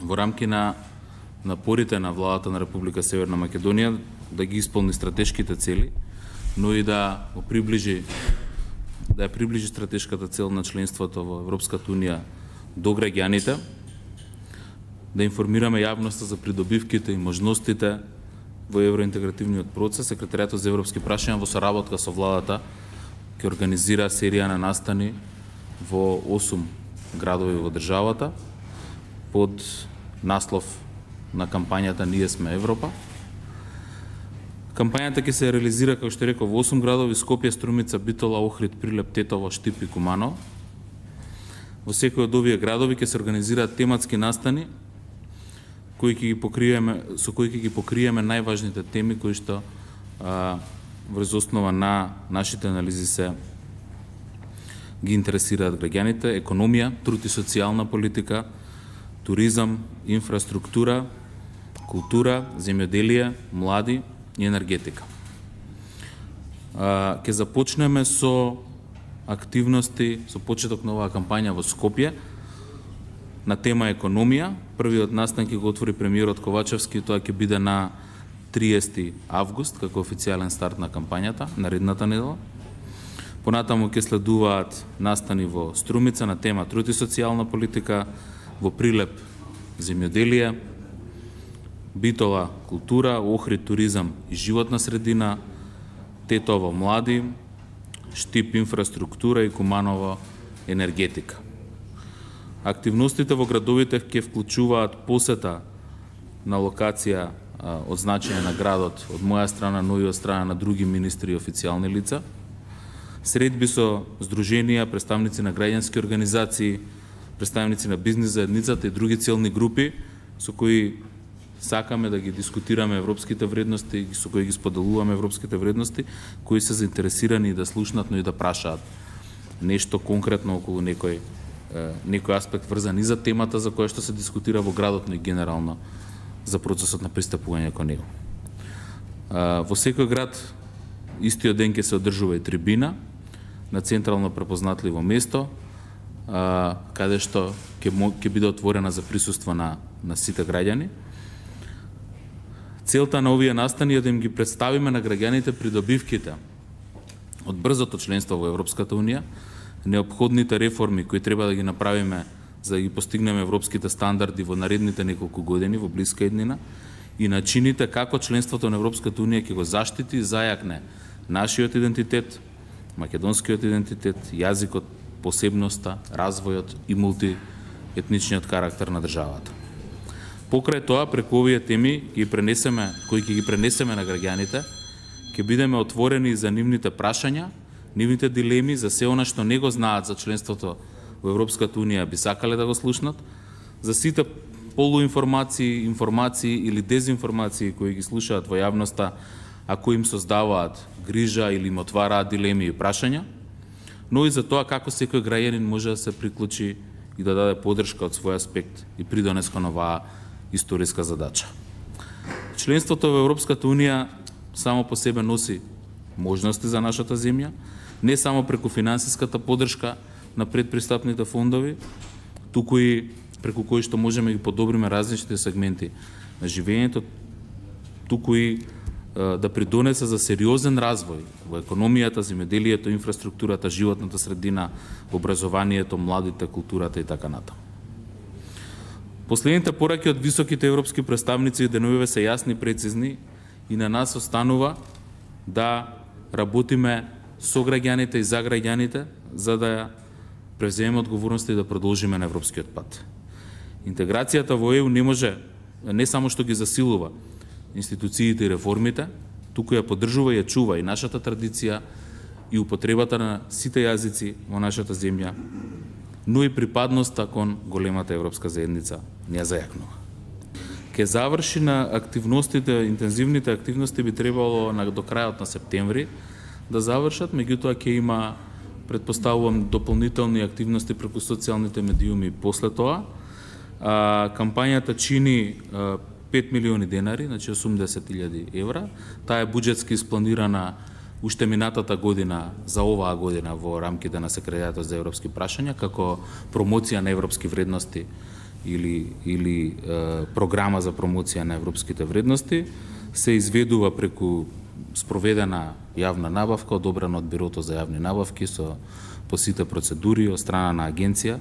во рамки на напорите на владата на Република Северна Македонија да ги исполни стратешките цели, но и да ја приближи стратешката цел на членството во Европската Унија до граѓаните, да информираме јавноста за придобивките и можностите во евроинтегративниот процес. Секретаријатот за европски прашања во соработка со владата ќе организира серија на настани во 8 градови во државата под наслов на кампањата Ние сме Европа. Кампањата ќе се реализира, како што реков, во 8 градови: Скопје, Струмица, Битола, Охрид, Прилеп, Тетово, Штип и Куманово. Во секој од овие градови ќе се организираат тематски настани со кои ќе ги покриеме најважните теми кои што врз основа на нашите анализи се ги интересираат граѓаните: економија, труд и социјална политика, туризам, инфраструктура, култура, земјоделие, млади и енергетика. Ќе започнеме со активности, со почеток на оваа кампања во Скопје на тема економија. Првиот настан ќе го отвори премиерот Ковачевски, тоа ќе биде на 30 август како официјален старт на кампањата наредната недела. Понатаму ќе следуваат настани во Струмица на тема труд и социјална политика, во Прилеп земјоделие, Битола култура, Охрид туризам и животна средина, Тетово млади, Штип инфраструктура и Куманово енергетика. Активностите во градовите ќе вклучуваат посета на локација од значење на градот од моја страна, но и од страна на други министри и официјални лица, средби со здруженија, представници на граѓански организации, представници на бизнис заедницата и други целни групи со кои сакаме да ги дискутираме европските вредности и со кои ги споделуваме европските вредности, кои се заинтересирани да слушнат, но и да прашаат нешто конкретно околу некој аспект врзан и за темата за која што се дискутира во градот, но и генерално за процесот на пристапување кон него. Во секој град истиот ден ќе се одржува и трибина на централно препознатливо место, каде што ќе биде отворена за присуство на сите граѓани. Целта на овие настани е да им ги представиме на граѓаните придобивките од брзото членство во Европската Унија, неопходните реформи кои треба да ги направиме за да ги постигнеме европските стандарди во наредните неколку години, во блиска иднина, и начините како членството на Европската Унија ќе го заштити и зајакне нашиот идентитет, македонскиот идентитет, јазикот, посебноста, развојот и мултиетничниот карактер на државата. Покрај тоа, преку овие теми кои ќе ги пренесеме на граѓаните, ќе бидеме отворени за нивните прашања, нивните дилеми, за се она што не го знаат за членството во Европската Унија, би сакале да го слушнат, за сите полуинформации, информации или дезинформации кои ги слушаат во јавноста, а кои им создаваат грижа или им отвараат дилеми и прашања, но и за тоа како секој граѓанин може да се приклучи и да даде поддршка од свој аспект и придонес кон оваа историска задача. Членството во Европската Унија само по себе носи можности за нашата земја, не само преку финансиската поддршка на предпристапните фондови, туку и преку кои што можеме да ги подобриме различните сегменти на живењето, туку и да придонесе за сериозен развој во економијата, земјоделието, инфраструктурата, животната средина, образованието, младите, културата и така натаму. Последните пораки од високите европски представници и деновиве се јасни, прецизни и на нас останува да работиме со граѓаните и за граѓаните, за да превземеме одговорноста и да продолжиме на европскиот пат. Интеграцијата во ЕУ не може не само што ги засилува институциите и реформите, туку ја поддржува и ја чува и нашата традиција и употребата на сите јазици во нашата земја, но и припадноста кон големата европска заедница не ја зајакнува. Ке заврши на активностите, интензивните активности би требало до крајот на септември да завршат, меѓутоа ќе има, предпоставувам, дополнителни активности преку социјалните медиуми после тоа. Кампањата чини 5 милиони денари, значи 80.000 евра. Таа е буџетски испланирана уште минатата година за оваа година во рамките на Секретаријатот за европски прашања како промоција на европски вредности или програма за промоција на европските вредности, се изведува преку спроведена јавна набавка, одобрена од Бирото за јавни набавки по сите процедури од страна на агенција,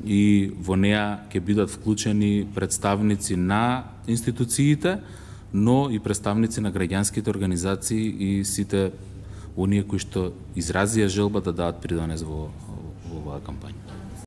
и во неа ќе бидат вклучени представници на институциите, но и представници на граѓанските организации и сите оние кои што изразија желба да дадат придонес во оваа кампања.